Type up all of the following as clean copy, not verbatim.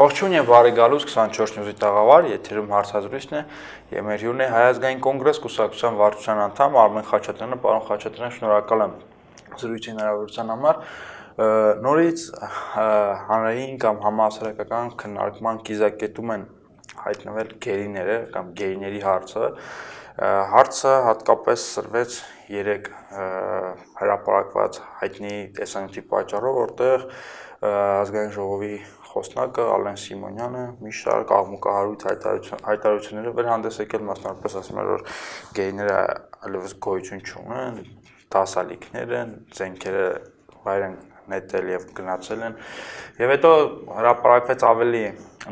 Ողջույն եւ բարի գալուս 24 նյուզի տաղավար, եթերում հարցազրույցն է եւ մեր հյուրն է Հայ ազգային կոնգրես կուսակցության վարչության անդամ Արմեն Խաչատրյանը, պարոն Խաչատրյան, շնորհակալ եմ զրույցի հնարավորության համար։ Նորից հանրային կամ համահասարակական քննարկման կիզակետում են հայտնվել գերիները կամ գերիների հարցը։ Հարցը հատկապես սրվեց 3 հրապարակված հայտնի տեսանյութի պատճառով, որտեղ ազգային ժողովի խոսնակը Ալեն Սիմոնյանը մի շարք աղմուկահարույց հայտարարությունները վեր հանդես եկել, մասնավորապես ասում էր, որ գեյները այլևս գոյություն չունեն, դասալիքներ են, զենքերը վայր են նետել եւ գնացել են, եւ հետո հրապարակվեց ավելի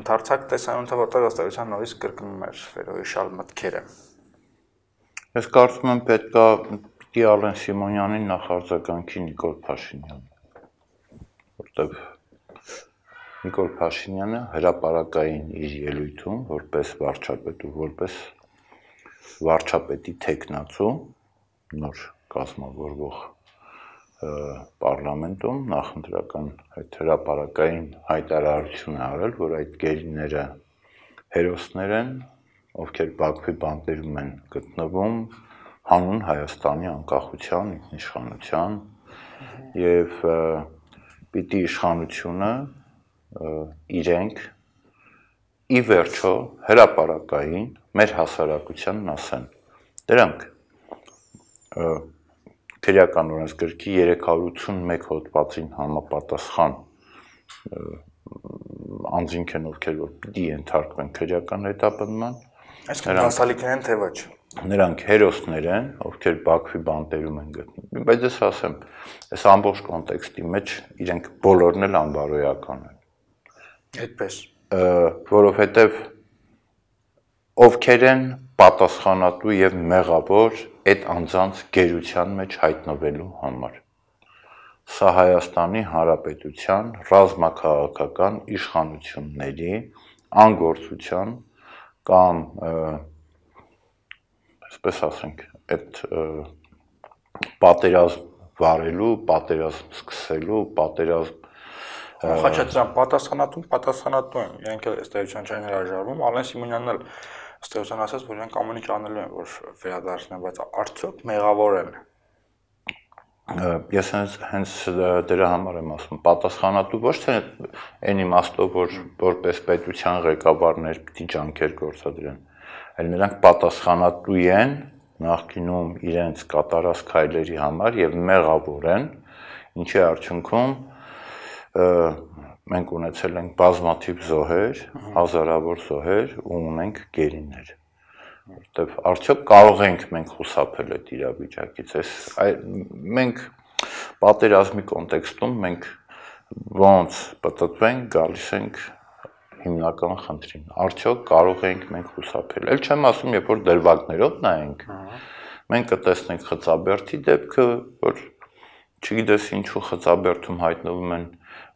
ընդարձակ տեսանյութը, որտեղ ըստ էության նորից կրկնում էր վերոհիշալ մտքերը։ Ես կարծում եմ պետք է Ալեն Սիմոնյանին նախարձագանքի Նիկոլ Փաշինյանը, որտեղ Նիկոլ Փաշինյանը հրապարակային իր ելույթում որպես վարչապետ ու որպես վարչապետի թեկնածու նոր կազմավորվող պարլամենտում նախընտրական այդ հրապարակային հայտարարություն է արել, որ այդ գերիները հերոսներ են, ովքեր Բաքվի բանտերում են գտնվում հանուն Հայաստանի անկախության, ինքնիշխանության եւ պիտի իշխանությունը իրենք ի վերջո հրապարակային մեր հասարակությանն ասեն։ Դրանք քրեական օրենսգրքի 381 հոդվածին համապատասխան անձինք են, ովքեր որ պիտի ենթարկվեն քրեական հետապնդման, այսինքն դասալիքներ են թե ոչ։ Նրանք հերոսներ են, ովքեր Բաքվի բանտերում են գտնվում։ Բայց ես ասեմ, այս ամբողջ կոնտեքստի մեջ իրենք բոլորն էլ անբարոյական են։ Այդպես, որովհետև ովքեր են պատասխանատու եւ մեղավոր այդ անձանց գերության մեջ հայտնվելու համար։ Սա Հայաստանի Հանրապետության ռազմաքաղաքական իշխանությունների անգործության կամ այսպես ասենք, այդ պատերազմ վարելու, պատերազմ սկսելու, պատերազմ Խաչատրյան, պատասխանատու են, իրենք էլ ըստ էության չեն հրաժարվում, Ալեն Սիմոնյանն էլ ըստ էության ասաց, որ իրենք ամեն ինչ անելու են, որ վերադարձնեն, բայց արդյոք մեղավոր են։ Ես հենց դրա համար եմ ասում, պատասխանատու ոչ թե այն իմաստով, որ որպես պետության ղեկավարներ պիտի ջանքեր գործադրեն, այլ նրանք պատասխանատու են նախկինում իրենց կատարած քայլերի համար եւ մեղավոր են, ինչի արդյունքում մենք ունեցել ենք բազմաթիվ զոհեր, հազարավոր զոհեր ու ունենք գերիներ, որտեվ արդյոք կարող ենք մենք խուսափել այդ իրավիճակից, մենք պատերազմի կոնտեքստում մենք ոնց պատտվենք, գալիս ենք հիմնական խնդրին, արդյոք կարող ենք մենք խուսափել, էլ չեմ ասում, երբ որ դրվագներով նայենք, մենք կտեսնենք Խծաբերդի դեպքը, որ չգիտես ինչու Խծաբերդում հայտնվում են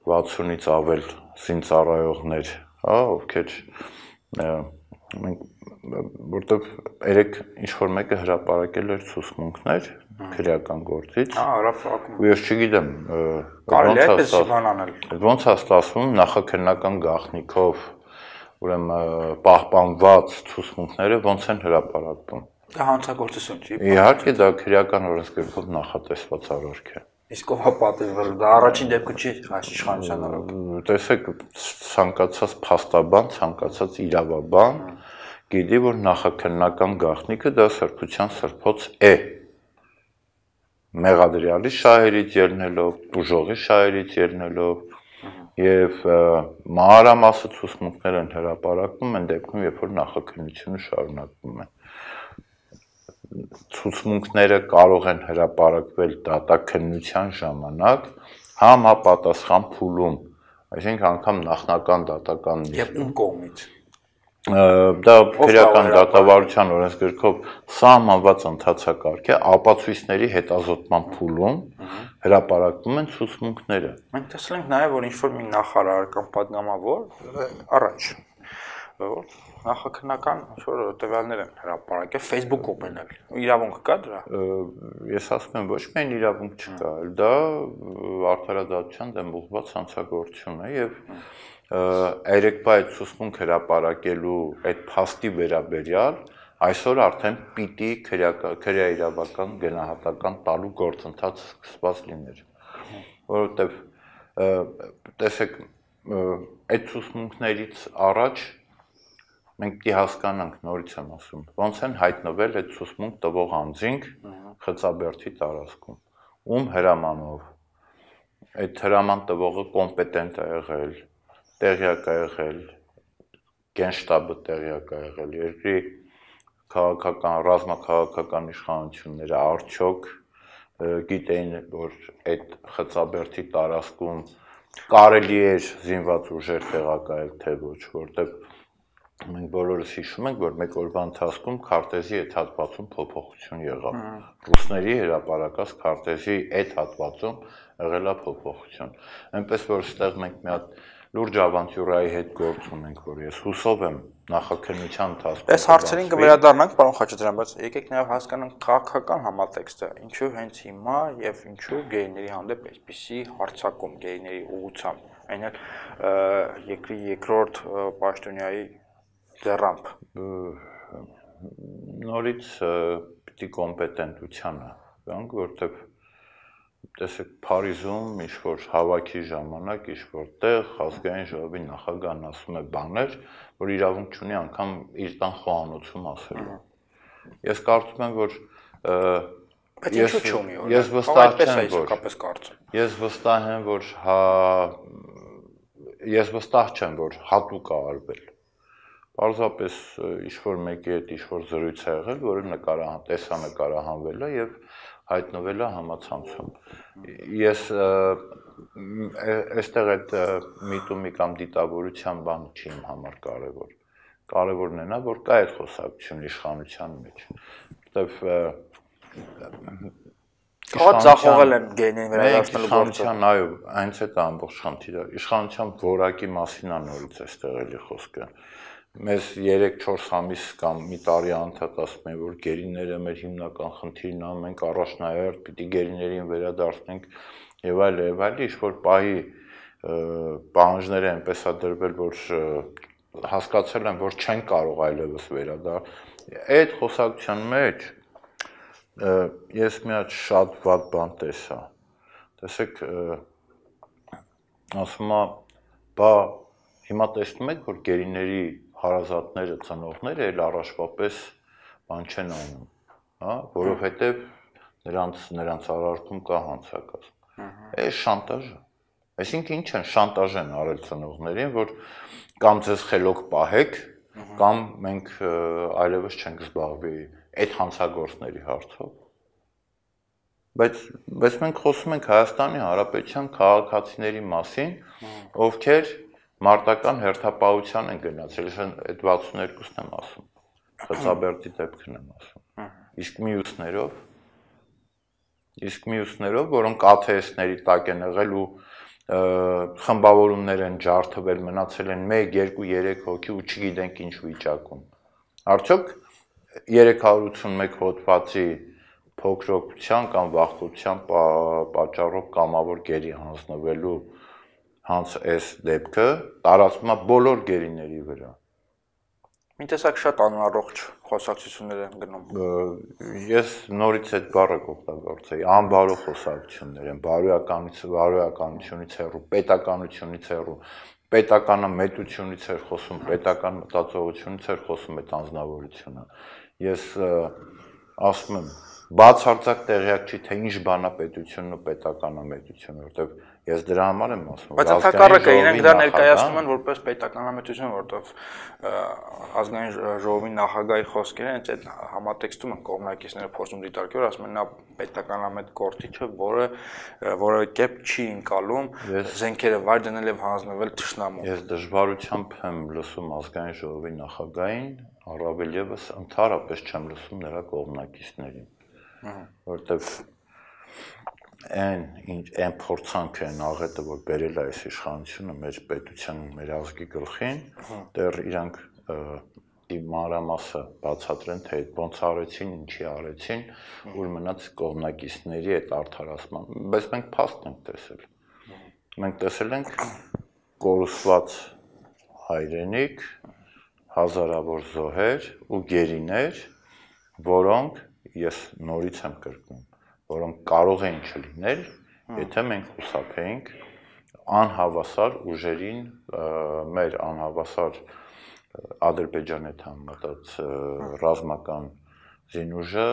60-ից ավել զինծառայողներ, ովքեր որտեղ երեք ինչ-որ մեկը հրապարակել էր ցուցմունքներ քրեական գործից, ու ես չգիտեմ, ոնց է ստացվում նախաքննական գաղտնիքով, ուրեմն պահպանված ցուցմունքները ոնց են հրապարակվում։ Դա հանցագործություն չի։ Իհարկե դա քրեական օրենսգրքով նախատեսված արարք է։ Իսկ ով պատժվել, դա առաջին դեպքը չի իշխանության օրոք։ Տեսեք, ցանկացած փաստաբան, ցանկացած իրավաբան գիտի, որ նախաքննական գաղտնիքը դա սրբության սրբոց է։ Մեղադրյալի շահերից ելնելով, ուժողի շահերից ելնելով եւ մանրամասը ցուցմունքներ են հրապարակվում այն դեպքում, երբ որ նախաքննությունը շարունակվում է։ Ցուցմունքները կարող են հրապարակվել դատաքննության ժամանակ համապատասխան փուլում, այսինքն անգամ նախնական դատական եւ ում կողմից։ Դա քրեական դատավարության օրենսգրքով սահմանված ընթացակարգ է, ապացույցների հետազոտման փուլում հրապարակվում են ցուցմունքները։ Մենք տեսել ենք նաեւ, որ ինչ-որ մի նախարար կամ պատգամավոր առաջ նախաքննական ինչ-որ տվյալներ են հրապարակել Facebook-ում էլ։ Իրավունք կա դրա։ Ես ասում եմ, ոչ միայն իրավունք չկա, դա արդարադատության դեմ ուղղված հանցագործություն է եւ երեկվա այդ ցուցմունք հրապարակելու այդ փաստի վերաբերյալ այսօր արդեն պիտի քրեա իրավական գնահատական տալու գործընթաց սկսված լիներ, որովհետև տեսեք այդ ցուցմունքներից առաջ մենք պիտի հասկանանք, նորից եմ ասում, ոնց են հայտնվել այդ ցուցմունք տվող անձինք Խծաբերդի տարածքում, ում հրամանով, այդ հրաման տվողը կոմպետենտ է եղել, տեղյակ է եղել, գենշտաբը տեղյակ է եղել, երկրի քաղաքական, ռազմաքաղաքական իշխանությունները արդյոք գիտեին, որ այդ Խծաբերդի տարածքում կարելի էր զինված ուժեր տեղակայել, թե ոչ, որտեղ մենք բոլորս հիշում ենք, որ մեկ օրվա ընթացքում քարտեզի այդ հատվածում փոփոխություն եղավ։ Ռուսների հրապարակած քարտեզի այդ հատվածում եղել է փոփոխություն։ Այնպես որ այստեղ մենք մի հատ լուրջ ավանտյուրայի հետ գործ ունենք, որ ես հուսով եմ նախաքննության ընթացքում։ Այս հարցերին կվերադառնանք, պարոն Խաչատրյան, բայց եկեք նաև հասկանանք քաղաքական համատեքստը, ինչու հենց հիմա եւ ինչու գեյների հանդեպ այսպիսի հարձակում գեյների ուղղությամբ, այն էլ երկրի երկրորդ պաշտոնյայի ձեռամբ։ Նորից պիտի կոմպետենտությանը գանք, որտեղ տեսեք Փարիզում ինչ-որ հավաքի ժամանակ ինչ-որ տեղ ազգային ժողովի նախագահն ասում է բաներ, որ իրավունք չունի անգամ իր տան խոհանոցում ասելու։ Ես կարծում եմ, որ ես վստահ չեմ, որ հատուկ է արվել։ Պարզապես ինչ-որ մեկի հետ ինչ-որ զրույց է եղել, որը տեսանկարահանվել է եւ հայտնվել է համացանցում։ Ես այստեղ այդ միտումի կամ դիտավորության բանը չի իմ համար կարևոր։ Կարևորն է նա, որ կա այդ խոսակցություն իշխանության մեջ, որտեվ Ձախողել են գեյներին վերադարձնելու գործը։ Այո, այնց է դա ամբողջ խնդիրը։ Իշխանության որակի մասին է նորից այստեղ էլի խոսքը։ Մեզ 3-4 ամիս կամ մի տարի անդադ ասում են, որ գերիները մեր հիմնական խնդիրն է, մենք առաջնահերթ պիտի գերիներին վերադարձնենք եւ այլ, ինչ-որ պահի պահանջները այնպես է դրվել, որ հասկացել են, որ չեն կարող այլևս վերադառնալ։ Այդ խոսակցության մեջ ես մի հատ շատ վատ բան տեսա։ Տեսեք, ասում է, բա հիմա տեսնում եք, որ գերիների հարազատները, ծնողները էլ առաջվա պես բան չեն անում, հա, որովհետև նրանց արարքում կա հանցակազմ։ Այս շանտաժ է։ Այսինքն ինչ են շանտաժ են արել ծնողներին, որ կամ ձեզ խելոք պահեք, կամ մենք այլևս չենք զբաղվի այդ հանցագործների հարցով։ Բայց մենք խոսում ենք Հայաստանի Հանրապետության քաղաքացիների մասին, ովքեր մարտական հերթապահության են գնացել, այդ 62-ն եմ ասում, Խծաբերդի դեպքն եմ ասում, իսկ մյուսներով, որոնք ATS-ների տակ են եղել ու խմբավորումներ են ջարդվել, մնացել են 1, 2, 3 հոգի ու չգիտենք ինչ վիճակում։ Արդյոք 381 հոդվածի փոքրության կամ վախկոտության պատճառով կամավոր գերի հանձնվելու այս դեպքը տարածվում է բոլոր գերիների վրա։ Մի տեսակ շատ անառողջ խոսակցություններ են գնում։ Ես նորից այդ բառը կօգտագործեի, անբարո խոսակցություններ են, բարոյականությունից հեռու, պետականությունից հեռու, պետականը մետությունից էր խոսում, պետական մտածողությունից էր խոսում այդ անձնավորությունը։ Ես ասում եմ, բացարձակ տեղյակ չի, թե ինչ բան է պետությունն ու պետականամետությունը, որտեղ ես դրա համար եմ ասում։ Բայց ընդհակառակը իրենք դա ներկայացնում են որպես պետականամետություն, որտեղ ազգային ժողովի նախագահի խոսքերը հենց այդ համատեքստում են կողմնակիցները փորձում դիտարկել, ասում են նա պետականամետ գործիչը, որը կերպ չի ընկալում զենքերը վայր դնել եւ հանձնվել թշնամուն։ Ես դժվարությամբ եմ լսում ազգային ժողովի նախագահին, առավել եւս ընդհանրապես չեմ լսում նրա կողմնակիցներին, որտեղ այն փորձանքը են աղետը, որ բերել է այս իշխանությունը մեր պետության, մեր ազգի գլխին, դեռ իրանք մանրամասը բացատրեն, թե ոնց արեցին, ինչի արեցին, ուր մնաց կողմնակիցների այդ արդարացման, բայց մենք փաստ ենք տեսել։ Մենք տեսել ենք կորուսված հայրենիք, հազարավոր զոհեր ու գերիներ, որոնք ես նորից եմ կրկնում, որոնք կարող էին չլինել, եթե մենք խուսափեինք անհավասար ուժերին, մեր անհավասար Ադրբեջանի հետ համեմատած ռազմական զինուժը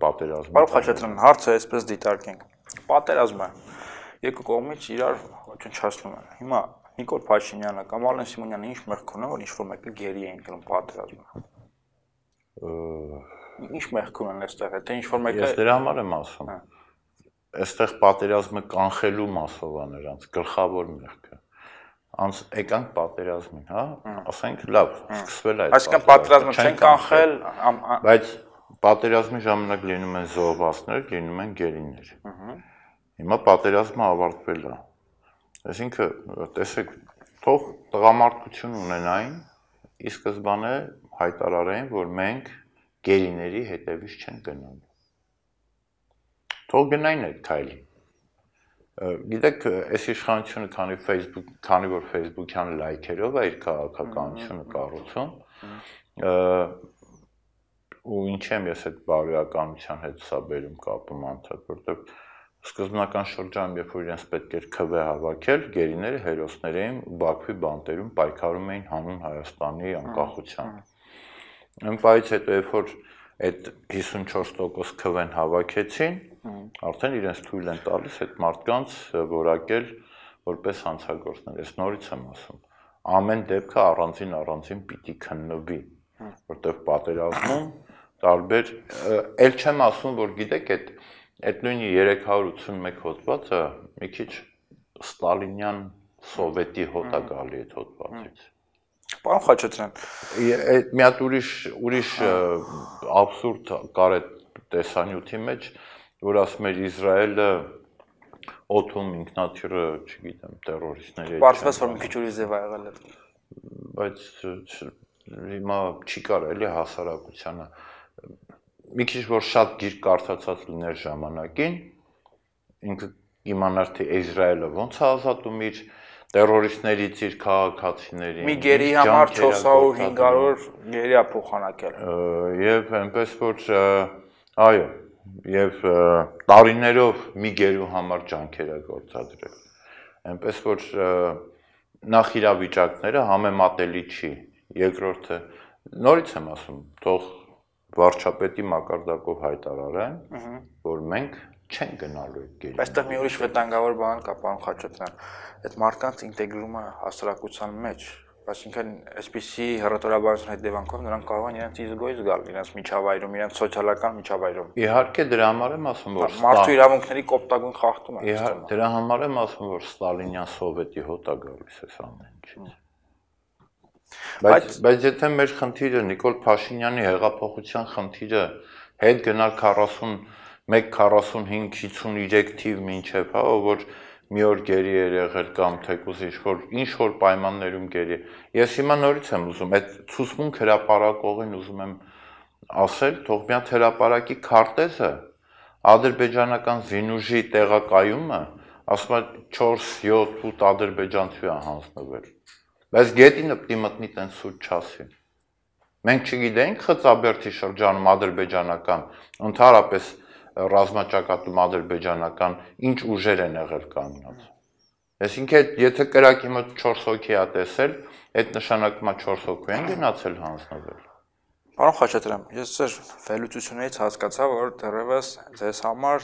պատերազմի։ Պարոն Խաչատրյան, հարցը այսպես դիտարկենք։ Պատերազմը երկու կողմից իրար ոչնչացնում են։ Հիմա Նիկոլ Փաշինյանը կամ Արմեն Սիմոնյանը ինչ մեղք ունեն, որ ինչ-որ մեկը գերի էին գնում պատերազմը։ Ինչ մեղք ունեն այստեղ, թե ինչ-որ մեկը։ Ես դրա համար եմ ասում։ Այստեղ պատերազմը կանխելու մասով է նրանց գլխավոր մեղքը։ Անց եկանք պատերազմին, հա, ասենք լավ, սկսվել է այդ։ Այսինքն պատերազմը չեն կանխել, բայց պատերազմի ժամանակ լինում են զոհվածներ, լինում են գերիներ։ Հիմա պատերազմը ավարտվել է։ Այսինքն, տեսեք, թող տղամարդկություն ունենային, ի սկզբանե հայտարարային, որ մենք գերիների հետևից չենք գնալու։ Թող գնային այդ քայլին։ Գիտեք, այս իշխանությունը քանի որ Facebook-յան լայքերով է իր քաղաքականությունը կառուցում, ու ինչ եմ ես այդ բարոյականության հետ սա բերում կապում անդադ, որտեղ սկզբնական շրջանում, երբ որ իրենց պետք էր քվ հավաքել, գերիները հերոսներ էին Բաքվի բանտերում պայքարում էին հանուն Հայաստանի անկախության։ Այնպես հետո երբ որ այդ 54% քվեն հավաքեցին, արդեն իրենց թույլ են տալիս այդ մարդկանց որակել որպես հանցագործներ։ Ես նորից եմ ասում, ամեն դեպքը առանձին պիտի քննվի, որտեղ պատերազմում տարբեր, ել չեմ ասում, որ գիտեք, այդ նույնի 381 հոդվածը մի քիչ ստալինյան սովետի հոտ է գալի այդ հոդվածից։ Պարոն Խաչատրյան, մի հատ ուրիշ աբսուրդ կար այդ տեսանյութի մեջ, որ ասում էր Իսրայելը օդում ինքնաթիռը, չգիտեմ, տերորիստների հետ։ Պարզվեց, որ մի քիչ ուրիշ ձև ա եղել է։ Բայց հիմա չի կարա էլի հասարակությանը մի քիչ որ շատ գիրք կարդացած լիներ ժամանակին, ինքը իմանար թե Իսրայելը ոնց է ազատում իր տերորիստներից իր քաղաքացիներին։ Մի գերի համար 400-500 գերի է փոխանակել։ Եվ այնպես որ այո, եւ տարիներով մի գերու համար ջանքեր է գործադրել։ Այնպես որ նախ իրավիճակները համեմատելի չի։ Երկրորդը նորից եմ ասում, թող վարչապետի մակարդակով հայտարարեն, որ մենք չենք գնալու այդ գերի։ Այստեղ մի ուրիշ վտանգավոր բան կա, պարոն Խաչատրյան, այդ մարդկանց ինտեգրումը հասարակության մեջ, այսինքն այսպիսի հռետորաբանության հետևանքով նրանք կարող են իրենց իզգոյ զգալ, իրենց միջավայրում, իրենց սոցիալական միջավայրում։ Իհարկե դրա համար եմ ասում, որ մարդու իրավունքների կոպտագույն խախտում է։ Իհարկե դրա համար եմ ասում, որ ստալինյան սովետի հոտ է գալիս այս ամեն ինչից։ Բայց եթե մեր խնդիրը Նիկոլ Փաշինյանի հեղափոխության խնդիրը հետ գնալ 41-45-53 թիվ մինչև, հա, որ մի օր գերի էր եղել կամ թեկուզ ինչ-որ պայմաններում գերի։ Ես հիմա նորից եմ ուզում, այդ ցուցմունք հրապարակողին ուզում եմ ասել, թող մի հատ հրապարակի քարտեզը, ադրբեջանական զինուժի տեղակայումը, ասում է 4-7-8 ադրբեջանցի է հանձնվել։ Բայց գետինը պիտի մտնի տենց սուտ չասի։ Մենք չգիտենք Խծաբերդի շրջանում ադրբեջանական, ընդհանրապես ռազմաճակատում ադրբեջանական ինչ ուժեր են եղել կանգնած։ Այսինքն, եթե կրակի մոտ 4 հոգի է տեսել, այդ նշանակում է 4 հոգու են գնացել հանձնվել։ Պարոն Խաչատրյան, ես ձեր վերլուծություններից հասկացա, որ դեռևս ձեզ համար,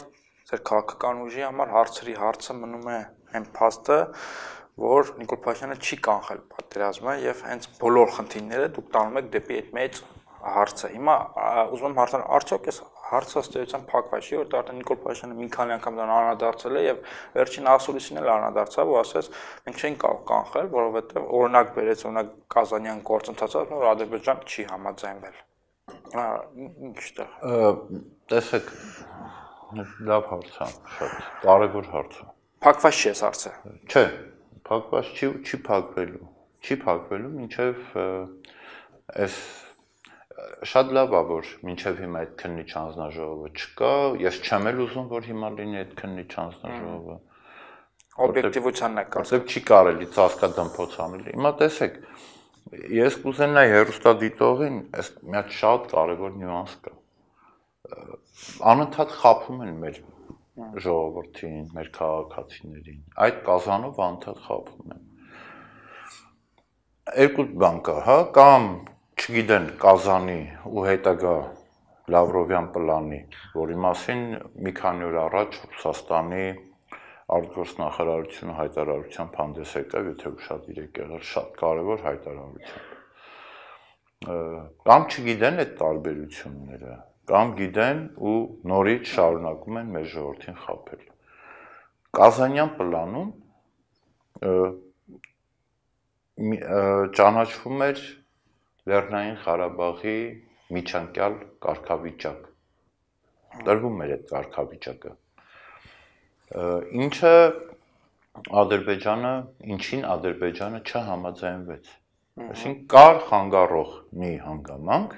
ձեր քաղաքական ուժի համար հարցը մնում է այն փաստը, որ Նիկոլ Փաշինյանը չի կանխել պատերազմը եւ հենց բոլոր խնդիրները դուք տանում եք դեպի այդ մեծ հարցը։ Հիմա ուզում եմ հարցնել, արդյոք այս հարցը ըստեյության փակված չի, որտեղ արդեն Նիկոլ Փաշինյանը մի քանի անգամ դրան անդրադարձել է եւ վերջին ասուլիսին էլ անդրադարձավ ու ասաց, մենք չենք կարող կանխել, որովհետեւ օրինակ բերեց օրինակ Կազանյան գործընթացը, որ Ադրբեջան չի համաձայնվել։ Հիմա ինչտեղ։ Տեսեք, լավ հարց է, շատ կարևոր հարց է։ Փակված չի այս հարցը։ Չէ, փակված չի փակվելու։ Չի փակվելու, մինչև այս շատ լավ է, որ մինչև հիմա այդ քննիչ հանձնաժողովը չկա, ես չեմ էլ ուզում, որ հիմա լինի այդ քննիչ հանձնաժողովը։ օբյեկտիվությանն է կասկած։ Որտեղ չի կարելի ծածկադմփոց անել։ Հիմա տեսեք, ես կուզենայի հեռուստադիտողին այս մի հատ շատ կարևոր նյուանս կա։ Անընդհատ խաբում են մեր ժողովրդին, մեր քաղաքացիներին։ Այդ կազանով անընդհատ խաբում են։ Երկու բան կա, հա, կամ չգիտեն Կազանի ու հետագա Լավրովյան պլանի, որի մասին մի քանի օր առաջ Ռուսաստանի արտգործնախարարությունը հայտարարությամբ հանդես եկավ, եթե ուշադիր եք եղել, շատ կարևոր հայտարարություն։ Կամ չգիտեն այդ տարբերությունները, կամ գիտեն ու նորից շարունակում են մեր ժողովրդին խաբել։ Կազանյան պլանում ճանաչվում էր Լեռնային Ղարաբաղի միջանկյալ կարգավիճակ։ Տրվում էր այդ կարգավիճակը։ Ինչին Ադրբեջանը չհամաձայնվեց։ Այսինքն կար խանգարող մի հանգամանք,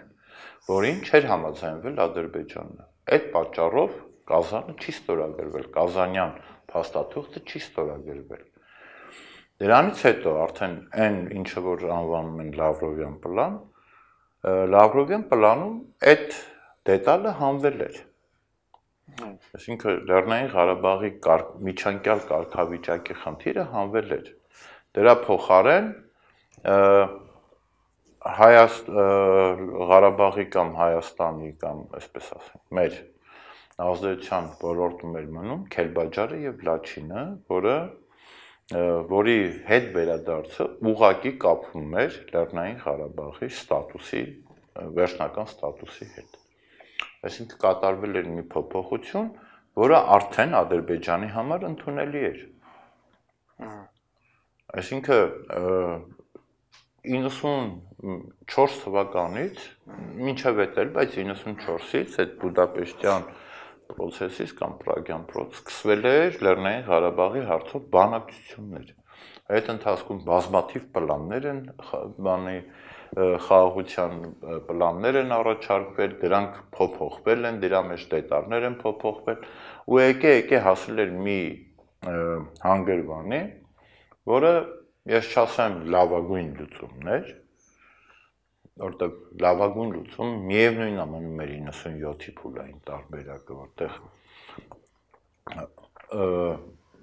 որին չէր համաձայնվել Ադրբեջանը։ Այդ պատճառով Կազանը չի ստորագրվել, Կազանյան փաստաթուղթը չի ստորագրվել։ Դրանից հետո արդեն այն ինչը որ անվանում են Լավրովյան պլան, Լավրովյան պլանում այդ դետալը հանվել էր։ Այսինքն Լեռնային Ղարաբաղի միջանկյալ կարգավիճակի խնդիրը հանվել էր։ Դրա փոխարեն Ղարաբաղի կամ Հայաստանի կամ այսպես ասենք մեր ազդեցության ոլորտում էր մնում Քելբաջարը եւ Լաչինը, որի հետ վերադարձը ուղղակի կապվում էր Լեռնային Ղարաբաղի ստատուսի, վերջնական ստատուսի հետ։ Այսինքն կատարվել էր մի փոփոխություն, որը արդեն Ադրբեջանի համար ընդունելի էր։ Այսինքն 94 թվականից մինչև էդ էլ, բայց 94-ից այդ Բուդապեշտյան պրոցեսից կամ Պրագյան պրոցես սկսվել էր Լեռնային Ղարաբաղի հարցով բանակցություններ։ Այդ ընթացքում բազմաթիվ պլաններ են, խաղաղության պլաններ են առաջարկվել, դրանք փոփոխվել են, դրա մեջ դետալներ են փոփոխվել, ու եկե հասել էր մի հանգրվանի, որը ես չասեմ լավագույն լուծումներ, որտեղ լավագույն լուծում միևնույնն մնում էր 97-ի փուլային տարբերակը,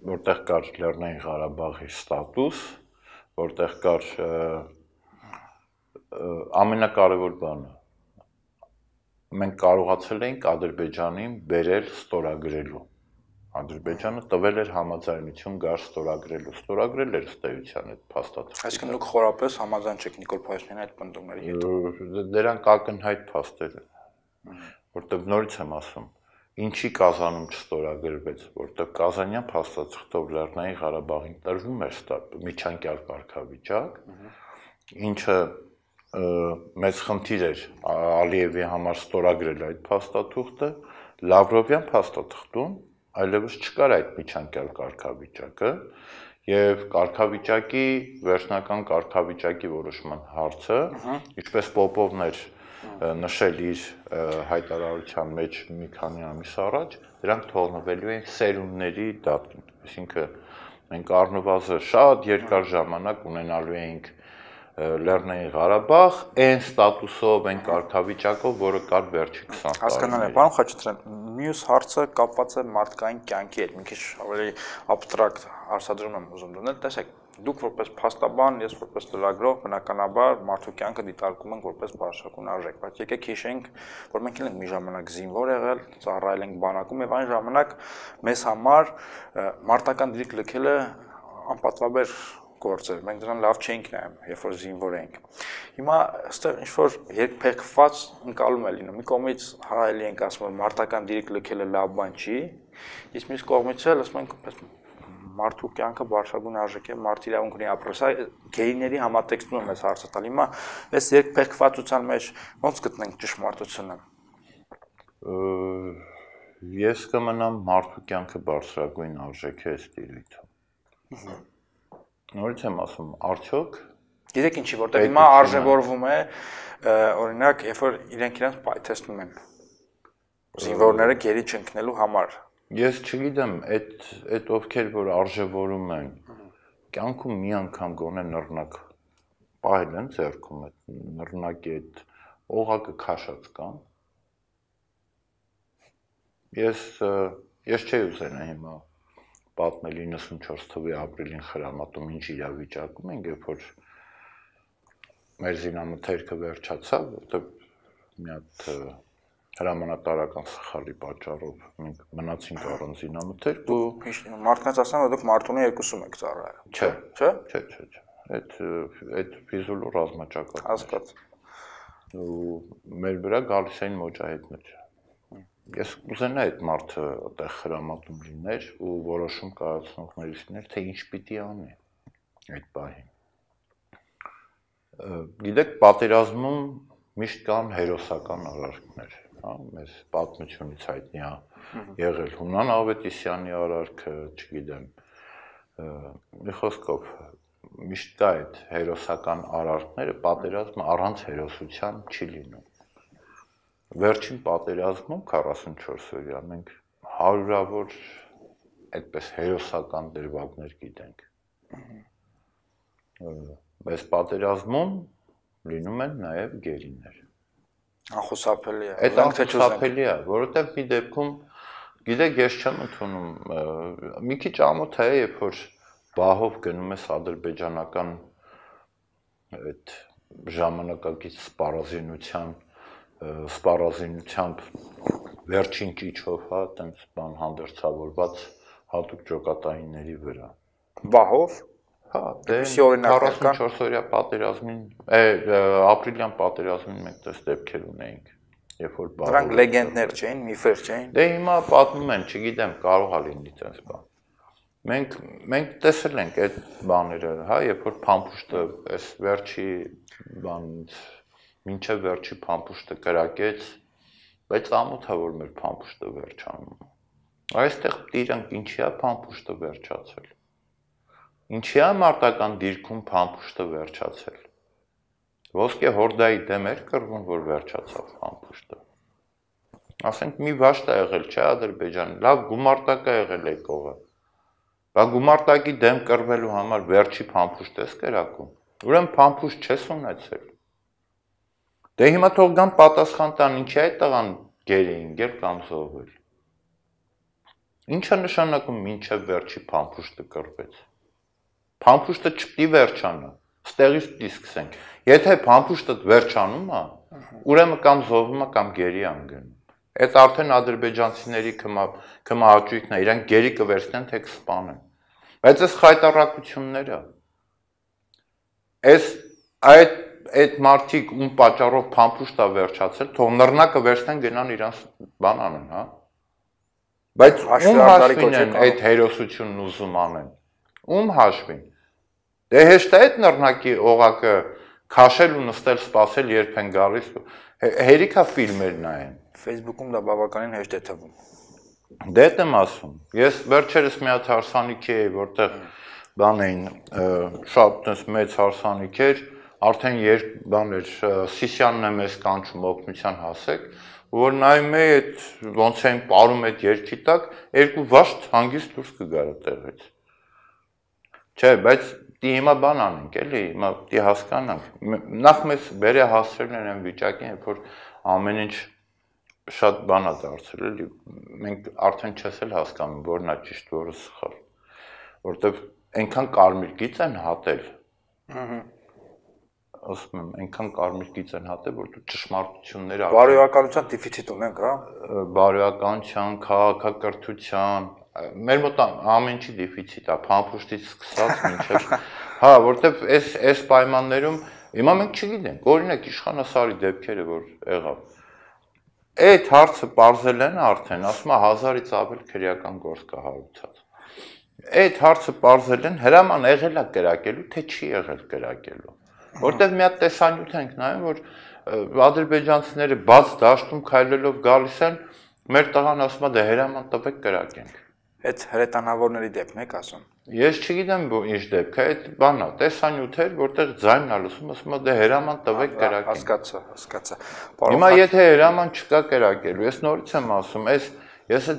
որտեղ կար Լեռնային Ղարաբաղի ստատուս, որտեղ կար ամենակարևոր բանը, մենք կարողացել էինք Ադրբեջանին բերել ստորագրելու, Ադրբեջանը տվել էր համաձայնություն գար ստորագրել էր ըստ էության այդ փաստաթղթը։ Այսինքն դուք խորապես համաձայն չեք Նիկոլ Փաշինյանի այդ պնդումների հետ։ Դրանք ակնհայտ փաստեր են, որտեղ նորից եմ ասում, ինչի Կազանում չստորագրվեց, որտեղ Կազանյան փաստաթղթով Լեռնային Ղարաբաղին տրվում էր միջանկյալ կարգավիճակ, ինչը մեծ խնդիր էր Ալիևի համար ստորագրել այդ փաստաթուղթը, Լավրովյան փաստաթղթում այլևս չկար այդ միջանկյալ կարգավիճակը եւ կարգավիճակի վերջնական կարգավիճակի որոշման հարցը, ինչպես Պոպովն էր նշել իր հայտարարության մեջ մի քանի ամիս առաջ, դրանք թողնվելու են սերունդների դատին, այսինքն մենք առնվազն շատ երկար ժամանակ ունենալու ենք Լեռնային Ղարաբաղ, այն ստատուսով, այն կարգավիճակով, որը կար վերջի 20 տարիներին։ Հասկանալի է, պարոն Խաչատրյան, մյուս հարցը կապված է մարդկային կյանքի հետ, մի քիչ ավելի աբստրակտ հարցադրում եմ ուզում դնել, տեսեք, դուք որպես փաստաբան, ես որպես լրագրող, բնականաբար մարդու կյանքը դիտարկում ենք որպես բարձրակուն արժեք, բայց եկեք հիշենք, որ մենք էլ ենք մի ժամանակ զինվոր եղել, ծառայել ենք բանակում եւ այն ժամանակ մեզ համար մարտական դիրք լքելը անպատվաբեր գործ էր, մենք դրան լավ չէինք նայում, երբ որ զինվոր էինք։ Հիմա այստեղ ինչ-որ երկփեղկված ընկալում է լինում, մի կողմից հայելի ենք ասում, որ մարտական դիրք լքելը լավ բան չի, իսկ մյուս կողմից էլ ասում ենք, մարդու կյանքը բարձրագույն արժեք է, մարդ իրավունք ունի ապրել, սա գեյների համատեքստում եմ այս հարցը տալ, հիմա այս երկփեղկվածության մեջ ոնց գտնենք ճշմարտությունը։ Ես կմնամ մարդու կյանքը բարձրագույն արժեք է ըստ իրույթը։ Նորից եմ ասում, արդյոք գիտեք ինչի, որտեղ հիմա արժևորվում է, օրինակ, երբ որ իրենք իրենց պայթեցնում են զինվորները գերի չընկնելու համար, Ես չգիտեմ, այդ ովքեր որ արժևորում են, կյանքում մի անգամ գոնե նռնակ պահել են ձեռքում այդ նռնակի այդ օղակը քաշած կան։ Ես չէի ուզենա հիմա պատմել 94 թվականի ապրիլին խրամատում ինչ իրավիճակում ենք, երբ որ մեր զինամթերքը վերջացավ, որտեղ մի հատ հրամանատարական սխալի պատճառով մենք մնացինք առանց զինամթերք ու մարդկանց ասում են, որ դուք Մարտունի 2-ում եք ծառայել։ Չէ։ Այդ ֆիզուլու ռազմաճակատ։ Հասկաց։ Ու մեր վրա գալիս էին մոջահեդներ։ Ես կուզենա այդ մարդը այդտեղ խրամատում լիներ ու որոշում կայացնողներից լիներ, թե ինչ պիտի անի այդ պահին։ Գիտեք, պատերազմում միշտ կան հերոսական արարքներ, հա, մեզ պատմությունից հայտնի է եղել Հունան Ավետիսյանի արարքը, չգիտեմ, մի խոսքով միշտ կա այդ հերոսական արարքները, պատերազմը առանց հերոսության չի լինում։ Վերջին պատերազմում 44 օրյա մենք հարյուրավոր այդպես հերոսական դրվագներ գիտենք։ Բայց պատերազմում լինում են նաև գերիներ։ Անխուսափելի է։ Այդ անխուսափելի է, որովհետև մի դեպքում, գիտեք, ես չեմ ընդունում, մի քիչ ամոթ է, երբ որ բահով գնում ես ադրբեջանական այդ ժամանակակից սպառազինությամբ վերջին ճիչով, հա, տենց բան հանդերձավորված հատուկ ջոկատայինների վրա։ Բահով։ Հա, դե 44 օրյա պատերազմին, ապրիլյան պատերազմին մենք դες դեպքեր ունեինք, երբ որ բահով։ Դրանք լեգենդներ չէին, միֆեր չէին։ Դե հիմա պատմում են, չգիտեմ, կարող է լինի տենց բան։ Մենք տեսել ենք այդ բաները, հա, երբ որ փամփուշտը այս վերջի բանից մինչև վերջի փամփուշտը կրակեց, բայց ամոթ է որ մեր փամփուշտը վերջանում։ Այստեղ դիրանք ինչի է փամփուշտը վերջացել։ Ինչի է մարտական դիրքում փամփուշտը վերջացել։ Ոսկե հորդայի դեմ էր կռվում, որ վերջացավ փամփուշտը։ Ասենք մի վաշտ է եղել, չէ, Ադրբեջանը, լավ գումարտակ է եղել եկողը։ Բա գումարտակի դեմ կռվելու համար վերջի փամփուշտ ես կրակում։ Ուրեմն փամփուշտ չես ունեցել։ Դե հիմա թող գան պատասխան տան, ինչի այդ տղան գերին գեր կամ զոհվել։ Ինչա նշանակում մինչև վերջի փամփուշտը կռվեց։ Փամփուշտը չպիտի վերջանա, ստեղից պիտի սկսենք։ Եթե փամփուշտը վերջանում է, ուրեմն կամ զոհվում է կամ գերի անգնում։ Այդ արդեն ադրբեջանցիների կմահաճույքն է, իրանք գերի կվերցնեն, թե կսպանեն։ Բայց այս խայտառակությունները, այդ մարդիկ ում պատճառով փամփուշտ է վերջացել, թող նռնակը վերցնեն գնան իրանց բան անեն, հա։ Բայց ում հաշվին են այդ հերոսությունն ուզում անեն։ Ում հաշվին։ Դե հեշտ է այդ նռնակի օղակը քաշել ու նստել սպասել, երբ են գալիս։ Հերիքա ֆիլմեր նայեն։ Facebook-ում դա բավականին հեշտ է թվում։ Դե դա եմ ասում։ Ես վերջերս մի հատ հարսանիքի էի, որտեղ բան էին, շատ մեծ հարսանիք էր, արդեն բան էր, Սիսյանն է մեզ կանչում օգնության հասեք, որ նայում էի այդ ոնց էին պարում այդ երկի տակ, երկու վաշտ հանգիստ դուրս կգար այդտեղից։ Չէ, բայց դի հիմա բան անենք, էլի, հիմա դի հասկանանք։ Նախ մեզ բերե հասցրել են այն վիճակին, երբ որ ամեն ինչ շատ բան է դարձել, էլի, մենք արդեն չես էլ հասկանում, որն է ճիշտ, որը սխալ, որտեվ այնքան կարմիր գիծ են հատել, ասում եմ, այնքան կարմիր գիծ են հատել, որ դու ճշմարտությունները բարոյականության դեֆիցիտ ունենք, հա։ Բարոյականության, քաղաքակրթության, մեր մոտ ամեն ինչի դեֆիցիտ է, փամփուշտից սկսած մինչև, հա, որտեվ այս պայմաններում հիմա մենք չգիտենք, օրինակ Իշխանասարի դեպքերը, որ եղավ։ Այդ հարցը պարզել են արդեն, ասում է 1000-ից ավել քրեական գործ կա հարուցած։ Այդ հարցը պարզել են, հրաման եղել է կրակելու, թե չի եղել կրակելու։ Որտեվ մի հատ տեսանյութ ենք նայում, որ ադրբեջանցիները բաց դաշտում քայլելով գալիս են, մեր տղան ասում է դե հրաման տվեք կրակենք։ Այդ հրետանավորների դեպքն եք ասում։ Ես չգիտեմ ինչ դեպք է, այդ բանն է, տեսանյութ էր, որտեղ ձայնն է լսում, ասում է դե հրաման տվեք կրակենք։ Հասկացա։ Հիմա եթե հրաման չկա կրակելու, ես նորից եմ ասում, այս Ես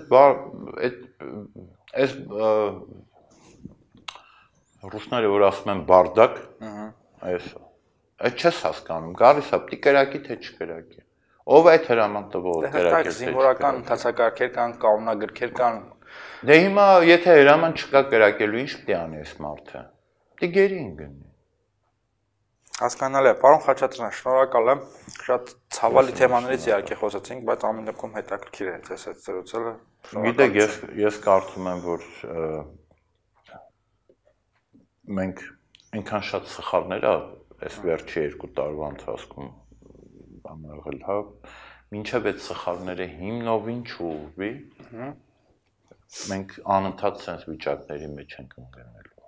այս ռուսները որ ասում են բարդակ, այդ չես հասկանում, գալիս է տիկերակի թե չկերակի։ Ով է այդ հրաման տվողը կերակել։ Զինվորական ընթացակարգեր կան, կանոնագրքեր կան։ Դե հիմա եթե հրաման չկա կերակելու, ինչ պիտի անի այս մարդը։ Պիտի գերին գնի։ Հասկանալի է, պարոն Խաչատրյան, շնորհակալ եմ։ Շատ ցավալի թեմաներից իհարկե խոսեցինք, բայց ամեն դեպքում հետաքրքիր է ձեզ հետ զրուցելը։ Գիտեք, ես կարծում եմ, որ մենք այնքան շատ սխալներ այս վերջի 2 տարվա ընթացքում եղել, հա, մինչև այդ սխալները հիմնովին չուղղվի, մենք անընդհատ sense վիճակների մեջ ենք ընկնելու։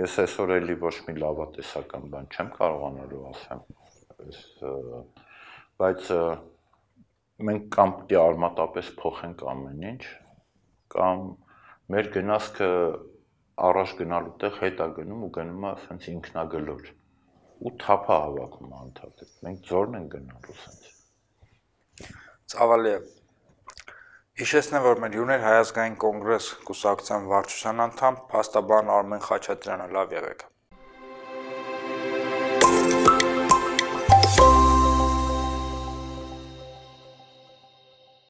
Ես այսօր էլի ոչ մի լավատեսական բան չեմ կարողանալու ասեմ, բայց մենք կամ պիտի արմատապես փոխենք ամեն ինչ, կամ մեր գնացքը առաջ գնալու տեղ հետ է գնում ու գնում է ասենց ինքնագլոր ու թափա հավաքում անընդհատ։ Մենք ձորն ենք գնալու ասենց։ Ցավալի է։ Հիշեցնեմ, որ մեր հյուրն էր Հայ ազգային կոնգրես կուսակցության վարչության անդամ, փաստաբան Արմեն Խաչատրյանը, լավ եղեք։